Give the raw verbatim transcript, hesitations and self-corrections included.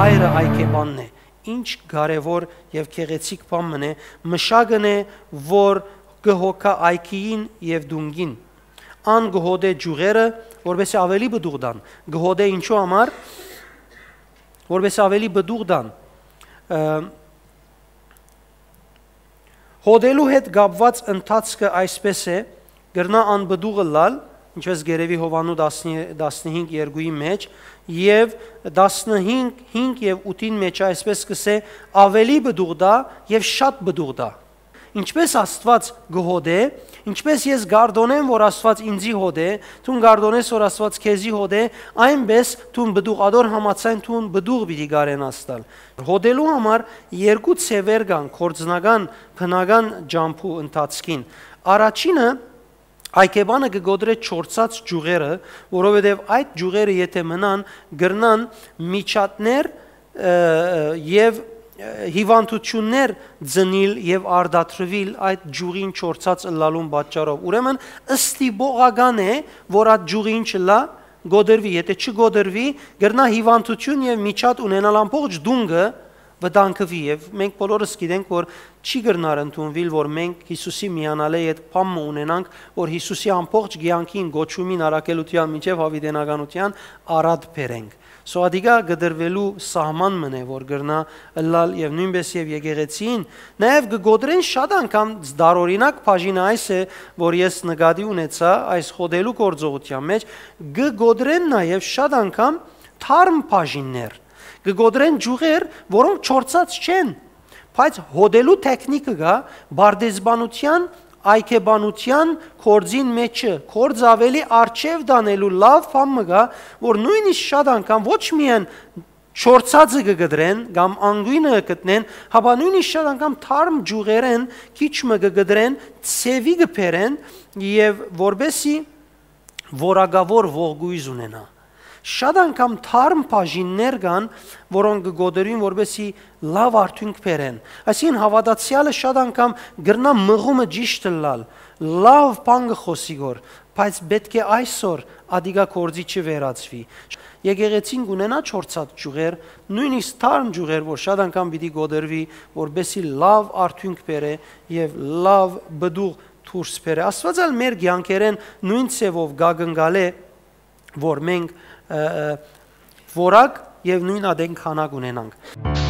Հայրը այգեբանն է։ Ինչ կարեւոր եւ գեղեցիկ բան մըն է, մշակն է, որ կը հոգայ այգիին եւ դունկին։ Ան կը հոտէ ջուղերը, որպեսզի ավելի պտուղ տան։ Կը հոտէ ինչու համար, որպեսզի ավելի պտուղ տան։ Ը, Հոտելու հետ կապուած ընթացքը այսպէս է, կրնայ անպտուղ ըլլալ, ինչպէս կ'երեւի Յովհաննու տասնհինգ երկուի մէջ, եւ տասնհինգ, հինգ եւ ութին մէջ այսպէս կ'ըսէ, ավելի պտուղ տայ եւ շատ պտուղ տայ։ Ինչպէս Աստուած կը հոտէ, ինչպէս ես կ'արտօնեմ որ Աստուած ինծի հոտէ, դուն կ'արտօնես որ Աստուած քեզի հոտէ, այնպէս դուն պտուղ, ատոր համաձայն դուն պտուղ պիտի կարենաս տալ։ Հոտելու համար երկու ձեւեր կան գործնական, բնական ճամբու ընթացքին։ Առաջինը, այգեբանը կը կոտրէ չորցած ճյուղերը, որովհետեւ այդ ճյուղերը, եթէ մնան, կրնան միջատներ, ը, եւ, ը, հիւանդութիւններ ծնիլ եւ արտադրուիլ այդ ճյուղին չորցած ըլլալուն պատճառով։ Ուրեմն, ստիպողական է, որ այդ ճյուղին չըլլայ, կոտրուի, եթէ չկոտրուի, կրնայ հիւանդութիւն եւ միջատ ունենալ, ամբողջ դունկը վտանգուի, եւ մենք բոլորս գիտենք, որ չի կրնար ընդունուիլ, որ մենք Յիսուսի միանալէ հետ բան մը ունենանք, որ Յիսուսի ամբողջ կեանքին, կոչումին, առաքելութեան, մինչեւ յաւիտենականութեան առատ բերենք։ Սոյ ատիկա կտրուելու սահման մն է, որ կրնայ ըլլալ, եւ նոյնպէս եւ եկեղեցին, նաեւ կը կոտրեն շատ անգամ, տարօրինակ բաժինը այս է, որ ես նկատի ունեցայ այս հոտելու գործողութեան մէջ, կը կոտրեն նաեւ շատ անգամ թարմ բաժիններ, կը կոտրեն ճյուղեր, որոնք չորցած չեն, բայց հոտելու թեքնիկը կայ, պարտեզբանութեան, այգեբանութեան գործին մէջը, գործ ավելի արջեւ տանելու լաւ բան մը կայ, որ նոյնիսկ շատ անգամ ոչ միայն չորցածը կը կտրեն կամ անգոյնը կը գտնեն, հապա նոյնիսկ շատ անգամ թարմ ճյուղերէն քիչ մը կը կտրեն, ձեւի կը բերեն, եւ որպեսզի որակաւոր ողկոյզ ունենայ։ Շատ անգամ թարմ բաժիններ կան, որոնք կը կոտրուին, որպեսզի լաւ արդիւնք բերեն։ Այսինքն, հաւատացեալը շատ անգամ կրնայ մղումը ճիշդ ըլլալ, լաւ բան կը խօսի գոր, բայց պէտք է այսօր ատիկա գործի չվերածուի։ Եկեղեցին կունենայ չորցած ճյուղեր, նոյնիսկ թարմ ճյուղեր, որ շատ անգամ պիտի կոտրուի, որպեսզի լաւ արդիւնք բերէ եւ լաւ պտուղ դուրս բերէ։ Աստուած ալ մեր կեանքերէն նոյն ձեւով կ'ակնկալէ, որ մենք, ը, ը, որակ եւ նոյն ատեն քանակ ունենանք։